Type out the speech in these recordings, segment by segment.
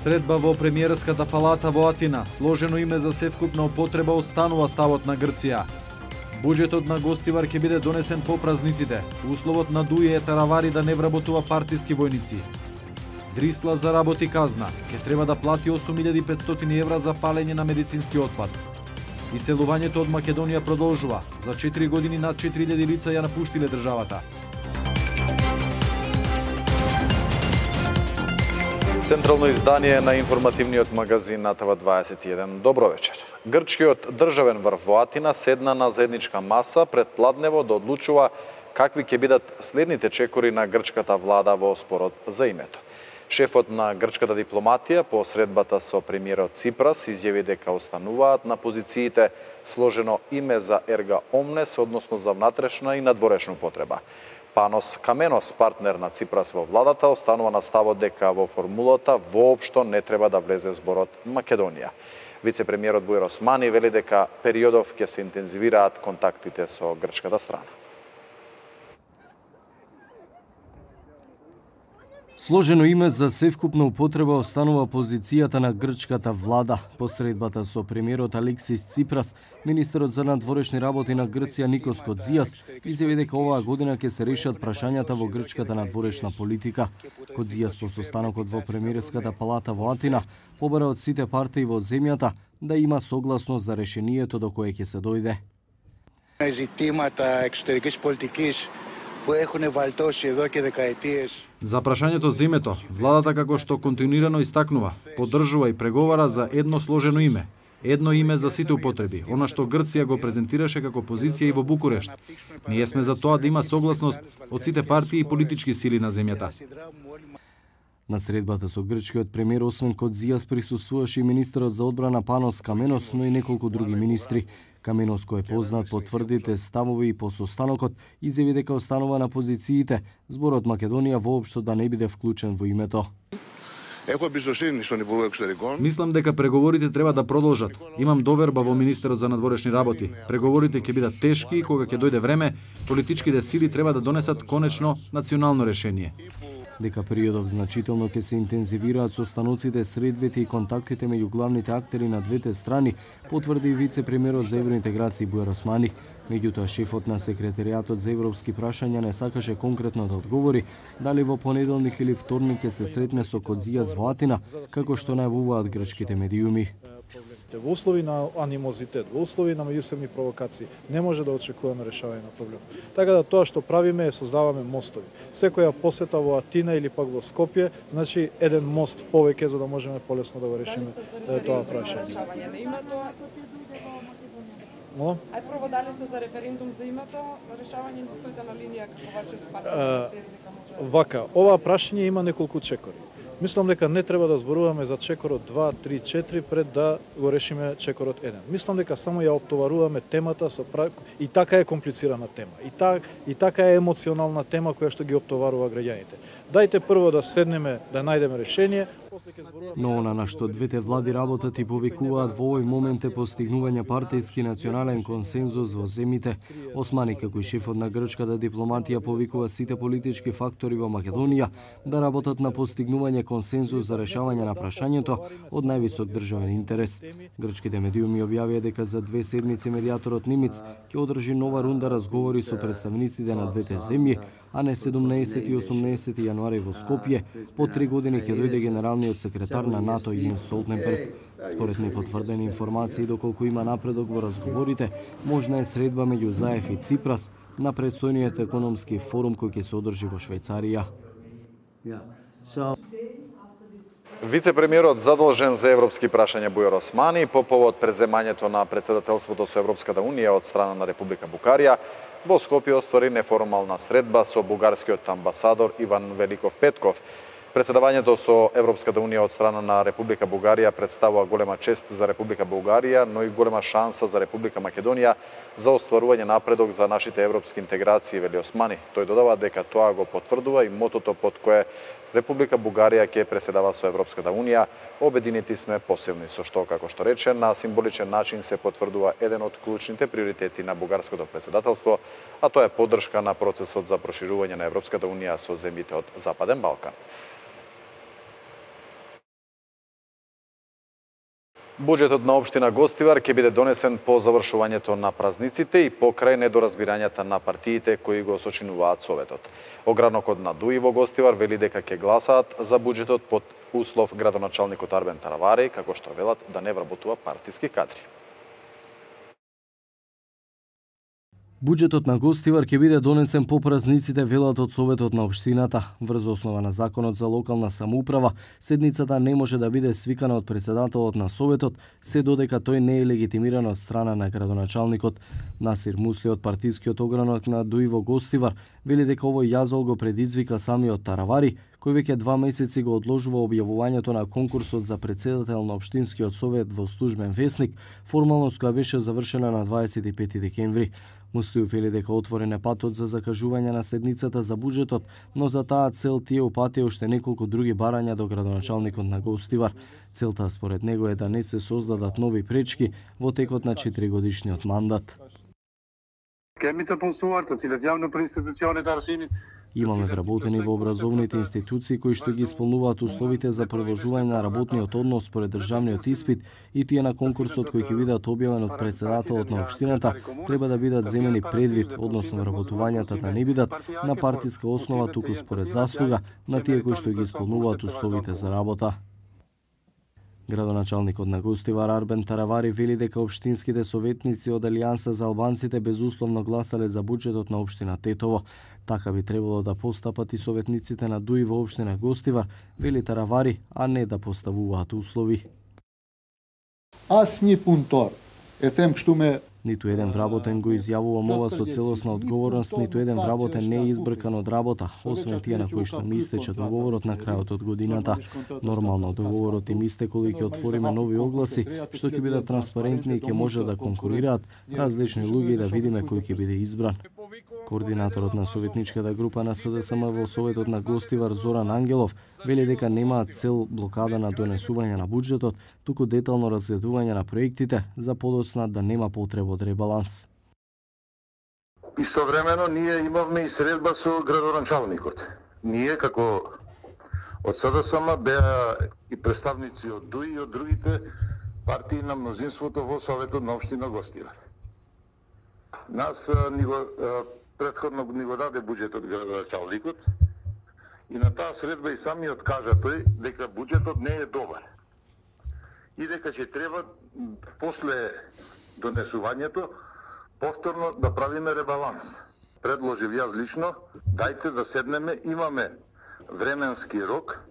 Средба во премиерската палата во Атина, сложено име за севкупна употреба останува ставот на Грција. Буџетот на Гостивар ќе биде донесен по празниците. Условот на Дуи е Таравари да не вработува партиски војници. Дрисла заработи казна. Ќе треба да плати 8.500 евра за палење на медицински отпад. Иселувањето од Македонија продолжува. За 4 години над 4.000 лица ја напуштиле државата. Централно издание на информативниот магазин Натава 21. Добро вечер. Грчкиот државен врв во Атина седна на заедничка маса пред Пладнево да одлучува какви ќе бидат следните чекори на грчката влада во спорот за името. Шефот на грчката дипломатија по средбата со премиерот Ципрас изјави дека остануваат на позициите сложено име за ерга омнес, односно за внатрешна и надворешна употреба. Панос Каменос, партнер на Ципрас во владата, останува на ставот дека во формулата воопшто не треба да влезе зборот Македонија. Вице-премиерот Бујар Османи вели дека периодов ќе се интензивираат контактите со грчката страна. Сложено име за севкупна употреба останува позицијата на грчката влада. По средбата со премиерот Алексис Ципрас, министерот за надворешни работи на Грција Никос Кодзијас изјави дека оваа година ќе се решат прашањата во грчката надворешна политика. Кодзијас по состанокот во премиерската палата во Атина побара од сите партии во земјата да има согласност за решението до кое ќе се дојде. Ζητήματα εξωτερικής πολιτικής που έχουν βαλτώσει εδώ και δεκαετίες. За прашањето за името, владата како што континуирано истакнува, поддржува и преговара за едно сложено име. Едно име за сите употреби, она што Грција го презентираше како позиција и во Букурешт. Ние сме за тоа да има согласност од сите партии и политички сили на земјата. На средбата со грчкиот премиер освен Кодзијас присуствуваше и министерот за одбрана Панос Каменос, но и неколку други министри. Каменос, кој е познат по тврдите ставови и по состанокот, изјави дека останува на позициите зборот Македонија воопшто да не биде вклучен во името. Мислам дека преговорите треба да продолжат. Имам доверба во министерот за надворешни работи. Преговорите ќе бидат тешки и кога ќе дојде време, политичките сили треба да донесат конечно национално решение. Дека периодов значително ќе се интензивираат состаноците, средбите и контактите меѓу главните актери на двете страни, потврди вице-премиерот за евроинтеграција Бујар Османи. Меѓутоа, шефот на секретаријатот за европски прашања не сакаше конкретно да одговори дали во понеделник или вторник ќе се сретне со Кодзијас во Атина, како што најавуваат грчките медиуми. Во услови на анимозитет, во услови на меѓусебни провокации, не може да очекуваме решавање на проблем. Така да тоа што правиме е создаваме мостови. Секоја посета во Атина или пак во Скопје, значи еден мост повеќе за да можеме полесно да го решиме тоа прашање. Но? Ај прво дали сте за референдум за името, решавање не стоите на линија како вашиот партнер? Вака, ова прашање има неколку чекори. Мислам дека не треба да зборуваме за чекорот 2, 3, 4 пред да го решиме чекорот 1. Мислам дека само ја оптоваруваме темата со и така е комплицирана тема. И така е емоционална тема која што ги оптоварува граѓаните. Дајте прво да седнеме да најдеме решение. Но она на што двете влади работат и повикуваат во овој момент е постигнување партиски национален консензус во земјите. Османи како и шефот на грчката дипломатија повикува сите политички фактори во Македонија да работат на постигнување консензус за решавање на прашањето од највисок државен интерес. Грчките медиуми објавија дека за 2 седмици медијаторот Нимиц ќе одржи нова рунда разговори со представниците на двете земји, а не 17 и 18 јануари во Скопје, по 3 години ќе дојде генералниот секретар на НАТО Јенс Столтенберг. Според непотврдени информации, доколку има напредок во разговорите, можна е средба меѓу Заев и Ципрас на предстојниот економски форум кој ќе се одржи во Швајцарија. Вице-премиерот задолжен за европски прашања Бујар Османи по повод преземањето на председателството со Европската унија од страна на Република Букарија во Скопје оствари неформална средба со бугарскиот амбасадор Иван Великов Петков. Председавањето со Европската унија од страна на Република Бугарија представува голема чест за Република Бугарија, но и голема шанса за Република Македонија за остварување напредок за нашите европски интеграции, вели Османи. Тој додава дека тоа го потврдува и мотото под кое Република Бугарија ќе преседава со Европската унија. Обединети сме посилни, со што, како што рече, на символичен начин се потврдува еден од клучните приоритети на бугарското председателство, а тоа е поддршка на процесот за проширување на Европската унија со земјите од Западен Балкан. Буџетот на општина Гостивар ќе биде донесен по завршувањето на празниците и покрај недоразбирањата на партиите кои го сочинуваат советот. Огранокот на ДУИ во Гостивар вели дека ќе гласаат за буџетот под услов градоначалникот Арбен Таравари, како што велат да не вработува партиски кадри. Буџетот на Гостивар ќе биде донесен по празниците, велат од Советот на општината. Врз основа на Законот за локална самоуправа, седницата не може да биде свикана од председателот на Советот, се додека тој не е легитимиран од страна на градоначалникот. Насир Мусли од партискиот огранок на ДУИ во Гостивар вели дека овој јазол го предизвика самиот Таравари, кој веќе 2 месеци го одложува објавувањето на конкурсот за председател на Општинскиот совет во службен весник, формалност која беше завршена на 25 декември. Муслију вели дека отворен е патот за закажување на седницата за буџетот, но за таа цел тие упатија уште неколку други барања до градоначалникот на Гостивар. Целта според него е да не се создадат нови пречки во текот на 4-годишниот мандат. Имаме вработени во образовните институции кои што ги исполнуваат условите за продолжување на работниот однос според државниот испит и тие на конкурсот кои ќе бидат објавени од председателот на општината треба да бидат земени предвид, односно вработувањата да не бидат на партиска основа, туку според заслуга на тие кои што ги исполнуваат условите за работа. Градоначалникот на Гостивар Арбен Таравари вели дека општинските советници од Алијанса за албанците безусловно гласале за буџетот на општина Тетово. Така би требало да постапат и советниците на ДУИ во општина Гостивар, вели Таравари, а не да поставуваат услови. Асни пунтор. Етем што ме Ниту еден вработен го изјавувам ова со целосна одговорност, ниту еден вработен не е избркан од работа, освен тие на кои што ми истече договорот на крајот од годината. Нормално договорот им истекол и ќе отвориме нови огласи, што ќе бидат транспарентни и ќе може да конкурираат различни луѓе и да видиме кој ќе биде избран. Координаторот на советничката група на СДСМ во Советот на Гостивар Зоран Ангелов вели дека немаат цел блокада на донесување на буџетот, туку детално разгледување на проектите за подоцна да нема потреба од ребаланс. Истовремено ние имавме и средба со градоначалникот. Ние како од СДСМ беа и представници од ДУИ и од другите партии на мнозинството во Советот на општина Гостивар. Нас претходно ни го даде буџетот градоначалникот и на таа средба и самиот кажа тој дека буџетот не е добар и дека ќе треба после донесувањето повторно да правиме ребаланс. Предложив јас лично, дајте да седнеме, имаме временски рок,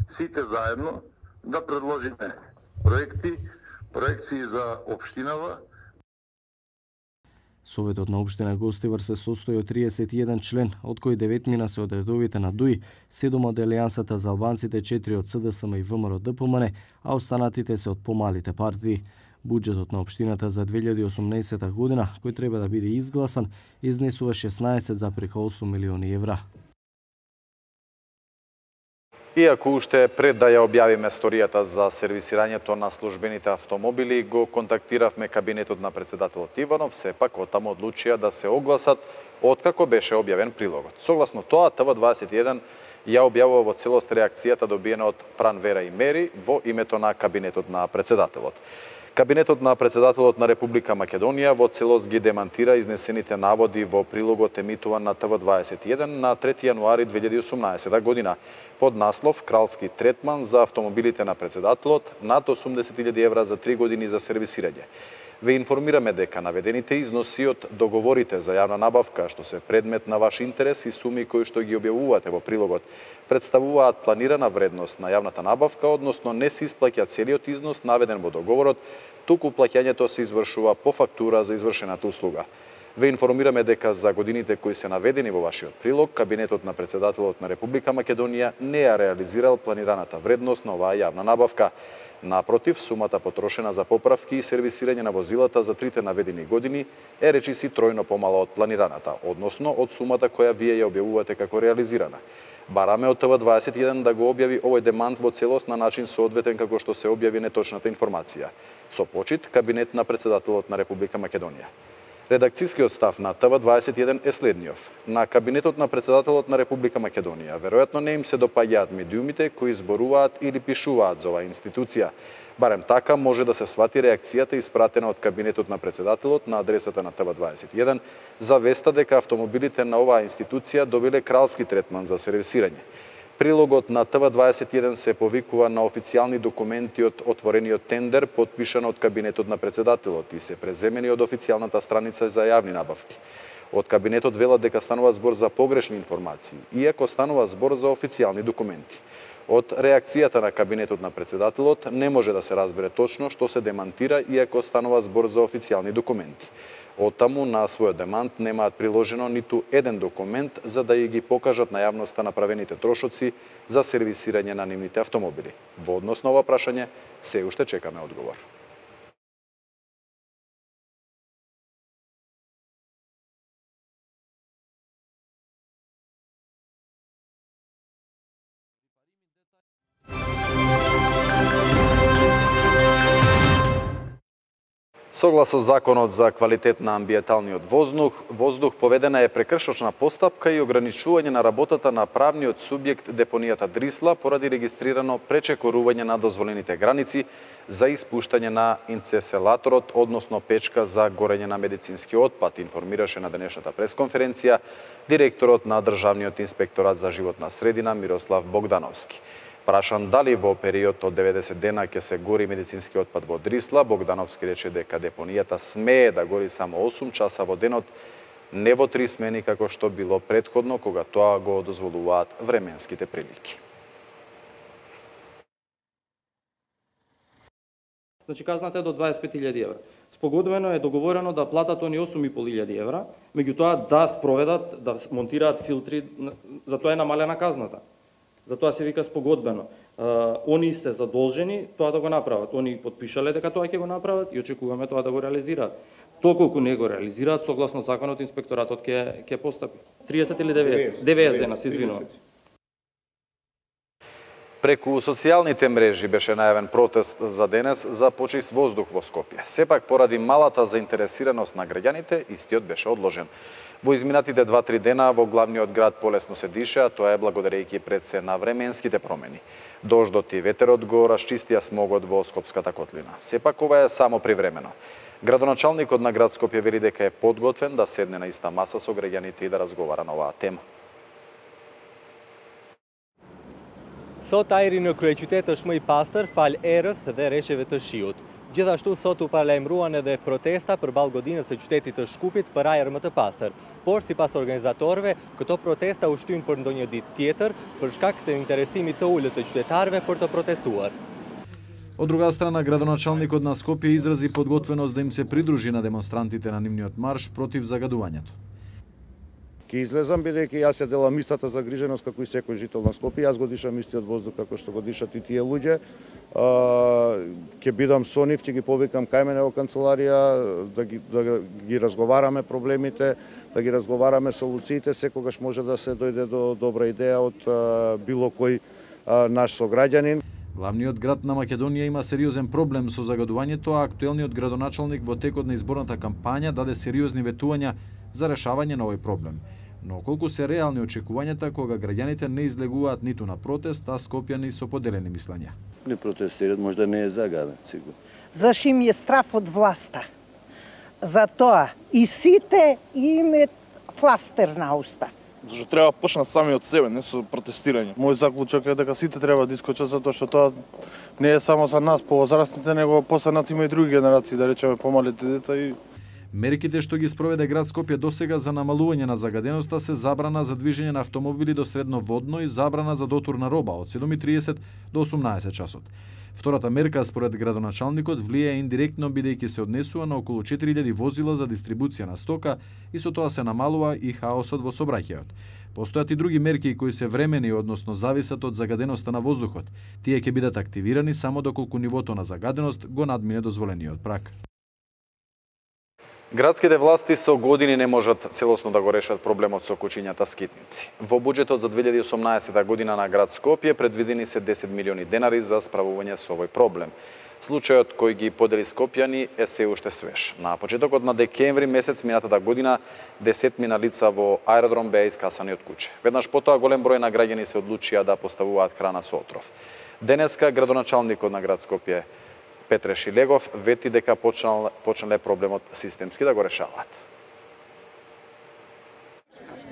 сите заедно да предложиме проекции за општинава. Советот на општина Гостивар се состои од 31 член, од кои 9 се од редовите на ДУИ, 7 од Алијансата за албанците, 4 од СДСМ и ВМРО ДПМН, а останатите се од помалите партии. Буџетот на општината за 2018 година, кој треба да биде изгласан, изнесува 16,8 милиони евра. Иако уште пред да ја објавиме сторијата за сервисирањето на службените автомобили, го контактиравме кабинетот на председателот Иванов, сепак оттаму одлучија да се огласат откако беше објавен прилогот. Согласно тоа, ТВ21 ја објавува во целост реакцијата добиена од Пранвера и Мери во името на кабинетот на председателот. Кабинетот на председателот на Република Македонија во целост ги демантира изнесените наводи во прилогот емитуван на ТВ21 на 3 јануари 2018 година под наслов Кралски третман за автомобилите на председателот над 80.000 евра за 3 години за сервисирање. Ве информираме дека наведените износи од договорите за јавна набавка, што се предмет на ваш интерес и суми кои што ги објавувате во прилогот, представуваат планирана вредност на јавната набавка, односно не се исплаќа целиот износ наведен во договорот, туку плаќањето се извршува по фактура за извршената услуга. Ве информираме дека за годините кои се наведени во вашиот прилог, кабинетот на председателот на Република Македонија не ја реализирал планираната вредност на оваа јавна набавка. Напротив, сумата потрошена за поправки и сервисирање на возилата за трите наведени години е речиси тројно помала од планираната, односно од сумата која вие ја објавувате како реализирана. Бараме од ТВ21 да го објави овој демант во целост на начин соодветен како што се објави неточната информација. Со почит, кабинет на председателот на Република Македонија. Редакцискиот став на ТВ21 е следниов. На кабинетот на председателот на Република Македонија веројатно не им се допаѓаат медиумите кои зборуваат или пишуваат за оваа институција. Барем така може да се свати реакцијата испратена од кабинетот на председателот на адресата на ТВ21 за веста дека автомобилите на оваа институција добиле кралски третман за сервисирање. Прилогот на ТВ21 се повикува на официјални документи од отворениот тендер, потпишан од кабинетот на председателот и се преземени од официјалната страница за јавни набавки. Од кабинетот велат дека станува збор за погрешни информации, иако станува збор за официјални документи. Од реакцијата на кабинетот на председателот не може да се разбере точно што се демантира, иако станува збор за официјални документи. Оттаму на својот демант немаат приложено ниту еден документ за да ја ги покажат на јавноста направените трошоци за сервисирање на нивните автомобили. Во однос на ова прашање се уште чекаме одговор. Согласно Законот за квалитет на амбиенталниот воздух поведена е прекршочна постапка и ограничување на работата на правниот субјект депонијата Дрисла поради регистрирано пречекорување на дозволените граници за испуштање на инцеселаторот, односно печка за горење на медицински отпад, информираше на денешната пресконференција директорот на Државниот инспекторат за животна средина Мирослав Богдановски. Прашан дали во период од 90 дена ќе се гори медицински отпад во Дрисла, Богдановски рече дека депонијата смее да гори само 8 часа во денот, не во 3 смени како што било претходно кога тоа го дозволуваат временските прилики. Значи казната е до 25.000 евра. Спогодбено е договорено да платат они 8.500 евра, меѓутоа да спроведат, да монтираат филтри, за тоа е намалена казната. Затоа се вика спогодбено. Они се задолжени тоа да го направат. Они потпишале дека тоа ќе го направат и очекуваме тоа да го реализираат. Доколку не го реализираат, согласно законот, инспекторатот ќе постапи. 30 или 90 дена, се извинувам. Преку социјалните мрежи беше најавен протест за денес за почист воздух во Скопје. Сепак, поради малата заинтересираност на граѓаните, истиот беше одложен. Во изминатите 2-3 дена во главниот град полесно се дише, а тоа е благодарејќи пред се на временските промени. Дождот и ветерот го расчистија смогот во Скопската котлина. Сепак, ова е само привремено. Градоначалникот на град Скопје вели дека е подготвен да седне на иста маса со граѓаните и да разговара на оваа тема. Sot ajri në kryeqytet është më I pastër fal erës dhe rreshjeve të shiut. Gjithashtu sot u paralajmëruan edhe protesta përballë godinës së qytetit të Shkupit për ajër më të pastër. Por sipas organizatorëve, këto protesta u shtyn për ndonjë ditë tjetër për shkak të interesimit të ulët të qytetarëve për të protestuar. Од друга страна, градоначалникот на Скопје изрази подготвеност да им се придружи на демонстрантите на нивниот марш против загадувањето. Ке излезам бидејќи јас ја делам истата загриженост како и секој жител на Скопје, јас го дишам истиот воздух како што го дишат и тие луѓе. Ќе бидам со нив, ќе ги повикам кај мене во канцеларија да ги разговараме проблемите, да ги разговараме солуциите, секогаш може да се дојде до добра идеја од било кој наш сограѓанин. Главниот град на Македонија има сериозен проблем со загадувањето, а актуелниот градоначалник во текот на изборната кампања даде сериозни ветувања за решавање на овој проблем. Но колку се реални очекувањата кога граѓаните не излегуваат ниту на протест, а скопјани со поделени мислења? Не протестираат, можда не е загаден, сигурно. Зашто им е страф од власта. Затоа и сите имаат фластер на уста. Зашто треба почнат сами од себе, не со протестирање. Мој заклучок е дека сите треба да искочат затоа што тоа не е само за нас повозрастните, него после нас има и други генерации, да речеме помалите деца и мерките што ги спроведе град Скопје досега за намалување на загаденоста се забрана за движење на автомобили до средноводно и забрана за дотур на роба од 7:30 до 18 часот. Втората мерка според градоначалникот влијае индиректно бидејќи се однесува на околу 4000 возила за дистрибуција на стока и со тоа се намалува и хаосот во сообраќајот. Постојат и други мерки кои се времени, односно зависат од загаденоста на воздухот. Тие ќе бидат активирани само доколку нивото на загаденост го надмине дозволениот праг. Градските власти со години не можат целосно да го решат проблемот со кучињата скитници. Во буџетот за 2018 година на град Скопје предвидени се 10 милиони денари за справување со овој проблем. Случајот кој ги подели скопјани е се уште свеж. На почетокот на декември месец минатата година 10 лица во аеродром беа искасани од куќе. Веднаш потоа голем број на граѓани се одлучија да поставуваат храна со отров. Денеска градоначалникот на град Скопје Петре Шилегов вети дека почнале проблемот системски да го решаваат.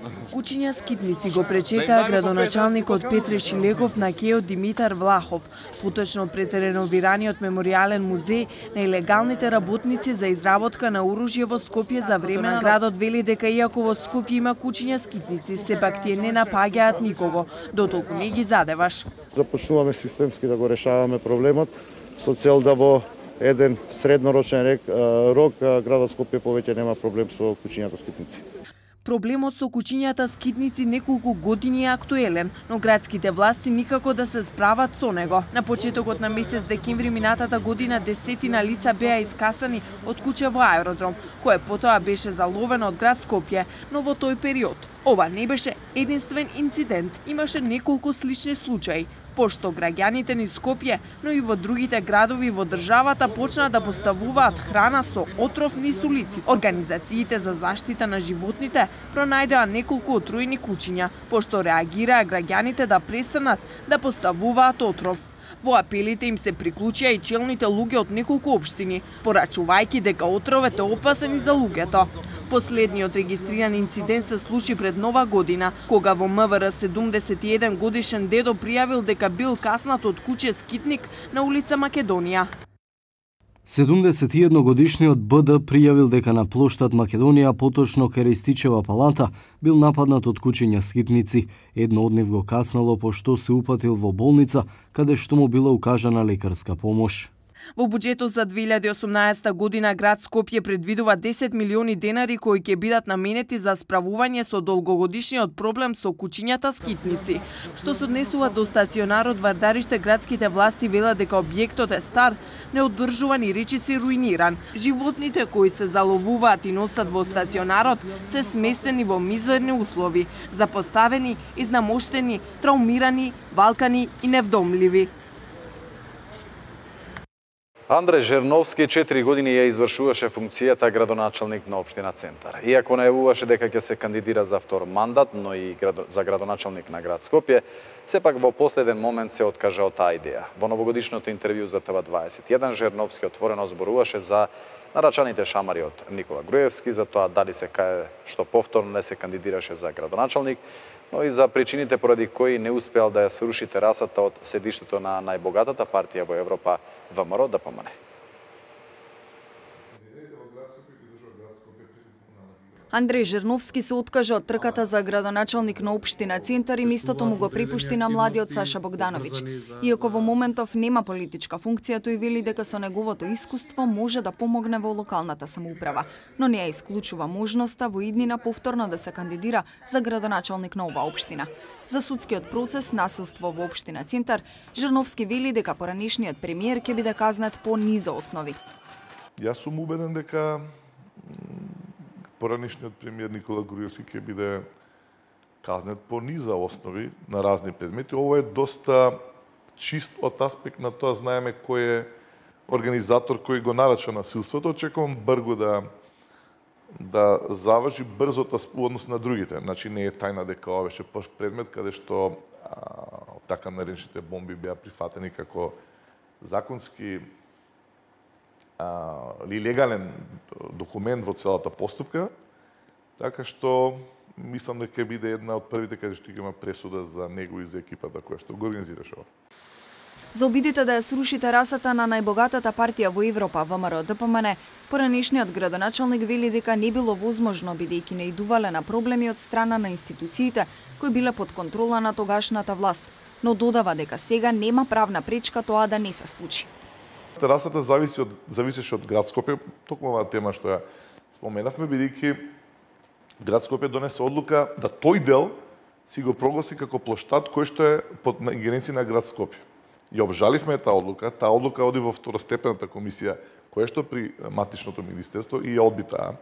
Кучиња скитници го пречекаа градоначалникот Петре Шилегов на кејот Димитар Влахов, поточно пред реновираниот меморијален музеј на илегалните работници за изработка на оружје во Скопје за време на градот вели дека иако во Скопје има кучиња скитници, сепак тие не напаѓаат никого, дотолку не ги задеваш. Започнуваме системски да го решаваме проблемот со цел да во еден среднорочен рок градот Скопје повеќе нема проблем со кучињата скитници. Проблемот со кучињата скитници неколку години е актуелен, но градските власти никако да се справат со него. На почетокот на месец декември минатата година десетина лица беа искасани од куќа во аеродром, кое потоа беше заловено од град Скопје, но во тој период ова не беше единствен инцидент, имаше неколку слични случаи. Пошто граѓаните низ Скопје, но и во другите градови во државата почнаа да поставуваат храна со отров низ улици. Организациите за заштита на животните пронајдоа неколку отруени кучиња, пошто реагираа граѓаните да престанат да поставуваат отров. Во апелите им се приклучија и челните луѓе од неколку општини, порачувајќи дека отровот е опасен и за луѓето. Последниот регистриран инцидент се случи пред Нова година, кога во МВР 71 годишен дедо пријавил дека бил каснат од куче скитник на улица Македонија. 71 годишниот БД пријавил дека на плоштад Македонија, поточно кај Ристичева палата, бил нападнат од кучиња скитници. Едно од нив го каснало пошто се упатил во болница, каде што му била укажана лекарска помош. Во буџетот за 2018 година град Скопје предвидува 10 милиони денари кои ќе бидат наменети за справување со долгогодишниот проблем со кучињата скитници. Што се однесува до стационарот Вардариште, градските власти велат дека објектот е стар, неоддржуван и речиси руиниран. Животните кои се заловуваат и носат во стационарот се сместени во мизерни услови, запоставени, изнамоштени, траумирани, валкани и невдомливи. Андреј Жерновски 4 години ја извршуваше функцијата градоначалник на општина Центар. Иако најавуваше дека ќе се кандидира за втор мандат, но и за градоначалник на град Скопје, сепак во последен момент се откажа од таа идеја. Во новогодишното интервју за ТВ21 Жерновски отворено зборуваше за нарачаните шамари од Никола Груевски, за тоа дали се кае што повторно не се кандидираше за градоначалник, но и за причините поради кои не успеал да ја сруши терасата од седиштето на најбогатата партија во Европа, ВМРО ДПМН. Андреј Жерновски се откажа од трката за градоначалник на општина Центар и местото му го препушти на младиот Саша Богдановиќ. Иако во моментов нема политичка функција, тој вели дека со неговото искуство може да помогне во локалната самоуправа, но не ја исклучува можноста во иднина повторно да се кандидира за градоначалник на оваа општина. За судскиот процес насилство во општина Центар, Жерновски вели дека поранешниот премиер ќе биде казнет по низа основи. Јас сум убеден дека поранешниот премиер Никола Груевски ќе биде казнет по низа основи на разни предмети. Ово е доста чист од аспект на тоа знаеме кој е организатор кој го нарача насилството. Очекувам брзо да заврши брзото во однос на другите. Значи не е тајна дека ова беше предмет каде што така наречените бомби беа прифатени како законски или легален документ во целата постапка, така што мислам дека ќе биде една од првите каде што ќе има пресуда за него и за екипата која што го организираше ова. За обидите да ја сруши терасата на најбогатата партија во Европа, ВМРО ДПМН, поранешниот градоначалник вели дека не било возможно бидејќи наидувале на проблеми од страна на институциите кои биле под контрола на тогашната власт, но додава дека сега нема правна пречка тоа да не се случи. Терасата зависеше од град Скопје, токму оваа тема што ја споменавме, бидејќи град Скопје донесе одлука да тој дел си го прогласи како плоштад кој што е под ингеренција на град Скопје. Ја обжаливме таа одлука оди во второстепената комисија, која што при матичното министерство и ја одби таа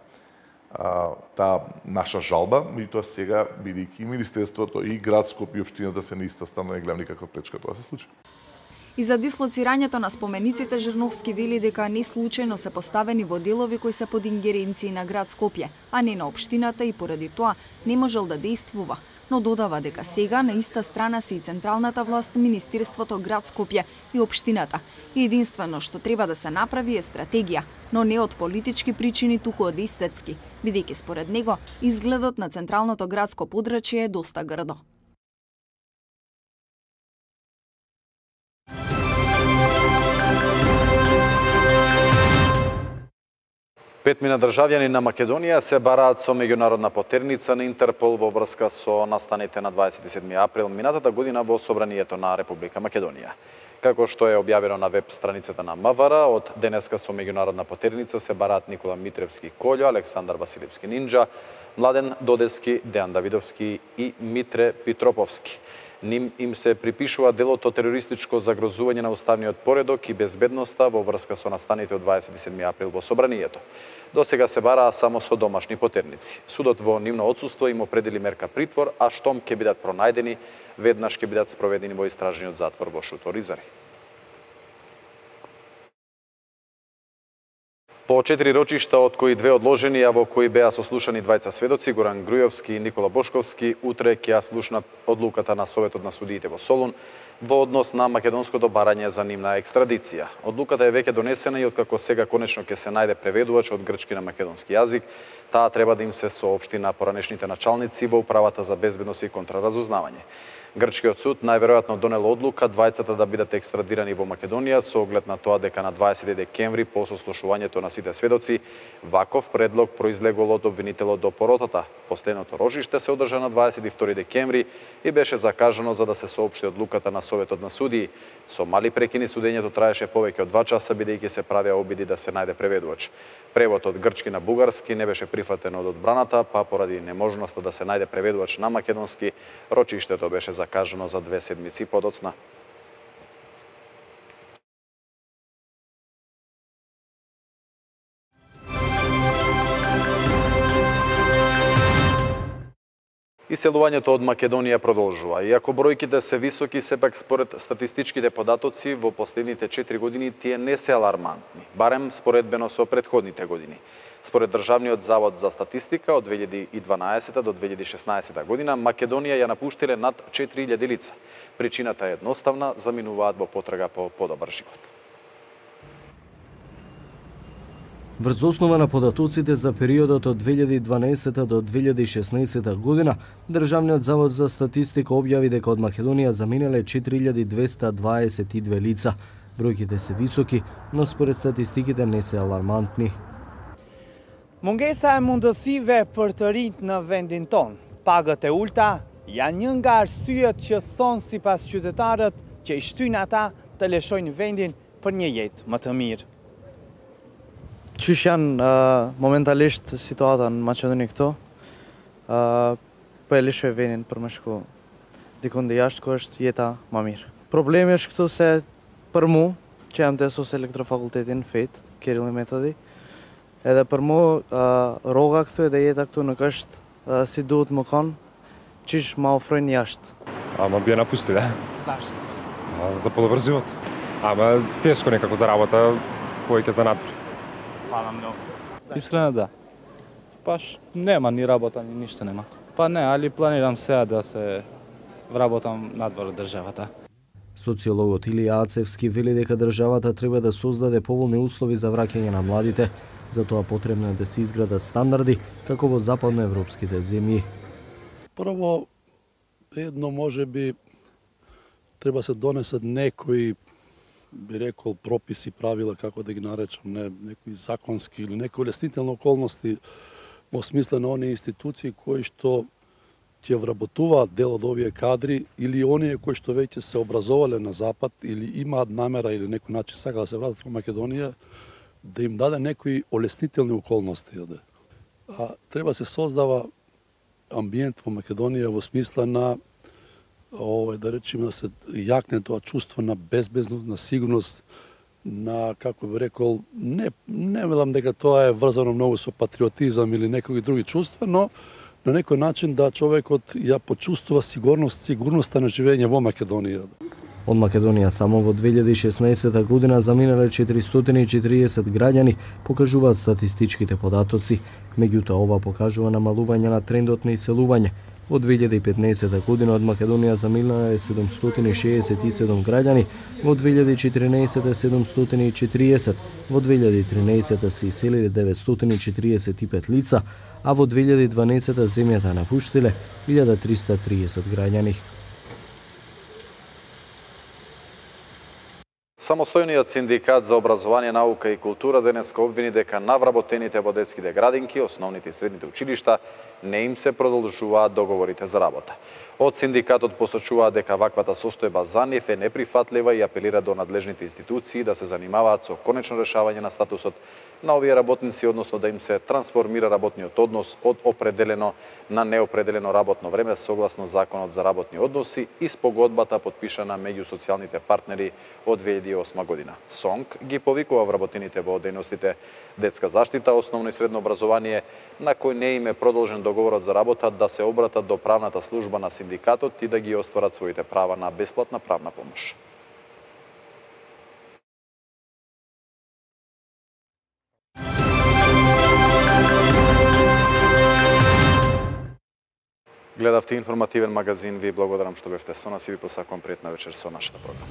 наша жалба, и тоа сега бидејќи и министерството и град Скопје и општината се на иста страна, не гледам никаква пречка тоа се случи. И за дислоцирањето на спомениците Жерновски вели дека не случајно се поставени во делови кои се под ингеренции на град Скопје, а не на општината и поради тоа не можел да действува, но додава дека сега на иста страна се и централната власт, Министерството, град Скопје и општината. И единствено што треба да се направи е стратегија, но не од политички причини, туку од естетски, бидејќи според него изгледот на централното градско подрачје е доста грдо. 5 државјани на Македонија се бараат со меѓународна потерница на Интерпол во врска со настаните на 27 април минатата година во Собранието на Република Македонија. Како што е објавено на веб страницата на МВР, од денеска со меѓународна потерница се бараат Никола Митревски Колјо, Александар Василевски Нинџа, Младен Додески, Дејан Давидовски и Митре Питроповски. Ним им се припишува делото терористичко загрозување на уставниот поредок и безбедноста во врска со настаните од 27 април во Собранието. До сега се бараа само со домашни потерници. Судот во нивно отсуство им определи мерка притвор, а штом ќе бидат пронајдени, веднаш ќе бидат спроведени во истражниот затвор во Шутор Изари. По 4 рочишта, од кои 2 одложени, а во кои беа сослушани двајца сведоци, Горан Грујовски и Никола Бошковски, утре ќе ја слушнат одлуката на Советот на судиите во Солун во однос на македонското барање за нивна екстрадиција. Одлуката е веќе донесена и откако сега конечно ќе се најде преведувач од грчки на македонски јазик, таа треба да им се соопшти на поранешните началници во Управата за безбедност и контраразузнавање. Грчкиот суд најверојатно донел одлука двајцата да бидат екстрадирани во Македонија со оглед на тоа дека на 20 декември по сослушувањето на сите сведоци ваков предлог произлегол од обвинителот до поротата. Последното рожиште се одржа на 22 декември и беше закажано за да се соопшти одлуката на Советот на судии. Со мали прекини судењето траеше повеќе од 2 часа бидејќи се правеа обиди да се најде преведувач. Превод од грчки на бугарски не беше прифатен од одбраната, па поради неможноста да се најде преведувач на македонски, рочиштето беше закажано за 2 седмици подоцна. Иселувањето од Македонија продолжува. Иако бројките се високи, сепак според статистичките податоци во последните 4 години тие не се алармантни, барем споредбено со претходните години. Според Државниот завод за статистика, од 2012 до 2016 година Македонија ја напуштиле над 4000 лица. Причината е едноставна, заминуваат во потрага по подобар живот. Врз основа на податоците за периодот од 2012 до 2016 година, Државниот завод за статистика објави дека од Македонија заминале 4222 лица. Бројките се високи, но според статистиките не се алармантни. Mungesa e mundësive për të rinjt në vendin tonë, pagët e ulta, janë një nga arsyet që thonë sipas qytetarët që i shtyjnë ata të lëshojnë vendin për një jetë më të mirë. Qysh janë momentalisht situata në Maqedoni këto, po e lëshoj vendin për më shku dikun dhe jashtë ku është jeta më mirë. Problemi është këtu se për mu, që jam të esos elektrofakultetin FET, Kirill Metodi, edhe për mu, roga këtu edhe jeta këtu nuk është si duhet më konë, qish ma ofrojnë jashtë. Ама би ја напустиле. Зашто? За подобар живот. Ама тешко некако за работа, повеќе за надвор. Hvala mnogo. Iskreno da. Baš nema ni работа, ни ништо нема. Па не, али планирам сега да се вработам надвор од државата. Социологот Илија Ацевски вели дека државата треба да создаде поволни услови за враќање на младите, затоа потребно е да се изградат стандарди како во западноевропските земји. Прво, едно може би треба се донесат некои, би рекол, прописи, правила, како да ги наречам, некои законски или некои улеснителни околности во смисла на оние институции кои што ќе вработуваат дел од овие кадри или оние кои што веќе се образовале на Запад или имаат намера или некој начин сака да се вратат во Македонија, да им даде некои олеснителни околности. Треба се создава амбиент во Македонија во смисла на да речеме да се јакне тоа чувство на безбедност, на сигурност, на, како би рекол, не велам дека тоа е врзано многу со патриотизам или некои други чувства, но на некој начин да човекот ја почувствува сигурноста на живење во Македонија. Од Македонија само во 2016 година заминале 440 граѓани, покажуваат статистичките податоци. Меѓутоа ова покажува намалување на трендот на иселување. Во 2015 година од Македонија заминаа 767 граѓани, во 2014 740, во 2013 се иселиле 945 лица, а во 2012 земјата напуштиле 1330 граѓани. Самостојниот синдикат за образование, наука и култура денеска обвини дека навработените во детските градинки, основните и средните училишта не им се продолжуваат договорите за работа. Од синдикатот посочуваат дека ваквата состојба за нив е неприфатлива и апелира до надлежните институции да се занимаваат со конечно решавање на статусот на овие работници, односно да им се трансформира работниот однос од определено на неопределено работно време согласно Законот за работни односи и спогодбата подпишана меѓу социјалните партнери од 2008 година. СОНК ги повикува вработените во дејностите детска заштита, основно и средно образование, на кој не им е продолжен договорот за работа, да се обратат до правната служба на синдикатот и да ги остварат своите права на бесплатна правна помош. Гледавте информативен магазин, ви благодарам што бевте со нас и ви посакувам пријатна вечер со нашата програма.